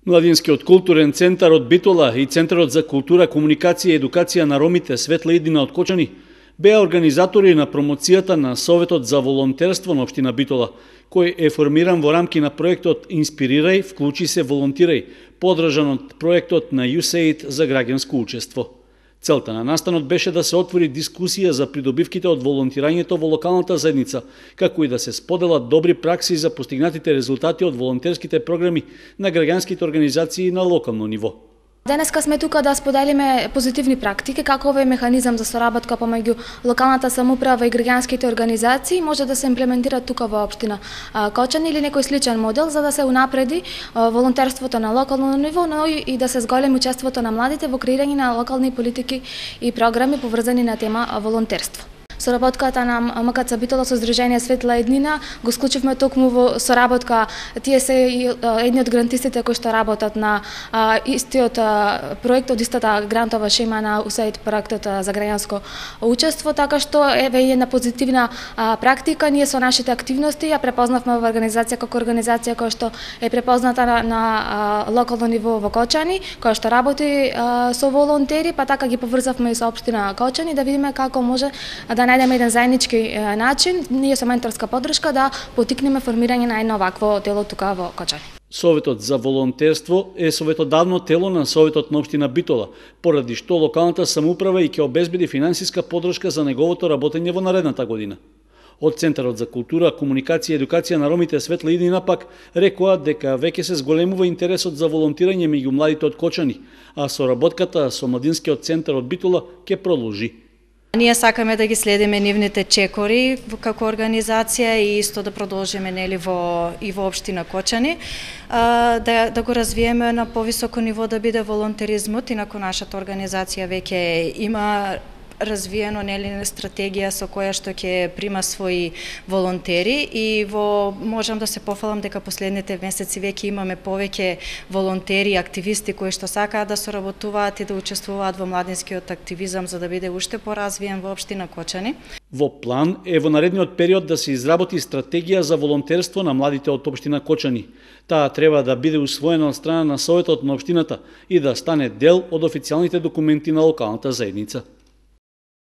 Младинскиот културен центар од Битола и Центарот за култура, комуникација и едукација на ромите Светла иднина од Кочани беа организатори на промоцијата на Советот за волонтерство на општина Битола, кој е формиран во рамки на проектот Инспирирај, вклучи се, волонтирај, подржан од проектот на USAID за граѓанско учество. Целта на настанот беше да се отвори дискусија за придобивките од волонтирањето во локалната заедница, како и да се споделат добри пракси за постигнатите резултати од волонтерските програми на граѓанските организации на локално ниво. Денеска сме тука да споделиме позитивни практики, како овој механизам за соработка помеѓу локалната самоуправа и граѓанските организации може да се имплементира тука во општина Кочани или некој сличен модел за да се унапреди волонтерството на локално ниво, но и да се зголеми учеството на младите во креирање на локални политики и програми поврзани на тема волонтерство. Соработката на МКЦ Битола со Здружение Светла иднина го склучивме токму во соработка. Тие се едни од грантистите кои што работат на истиот проект, од истата грантова шема на USAID проектот за граѓанско учество, така што еве една позитивна практика. Ние со нашите активности ја препознавме во организација како организација која што е препозната на локално ниво во Кочани, која што работи со волонтери, па така ги поврзавме и со општина Кочани да видиме како може да најдеме еден заеднички начин, ние со менторска поддршка да потикнеме формирање на едно вакво тело тука во Кочани. Советот за волонтерство е советодавно тело на Советот на општина Битола, поради што локалната самоуправа и ќе обезбеди финансиска поддршка за неговото работење во наредната година. Од Центарот за култура, комуникација и едукација на ромите Светла иднина пак рекоа дека веќе се зголемува интересот за волонтирање меѓу младите од Кочани, а соработката со Младинскиот центар од Битола ќе продолжи. Ние сакаме да ги следиме нивните чекори како организација и исто да продолжиме во општина Кочани, да го развиеме на повисоко ниво да биде волонтеризмот, инаку нашата организација веќе има развиено стратегија со која што ќе прима своји волонтери и можам да се пофалам дека последните месеци веќе имаме повеќе волонтери и активисти кои што сакаат да соработуваат и да учествуваат во младинскиот активизам за да биде уште поразвиен во општина Кочани. Во план е во наредниот период да се изработи стратегија за волонтерство на младите од општина Кочани. Таа треба да биде усвоена од страна на Советот на општината и да стане дел од официјалните документи на локалната заедница.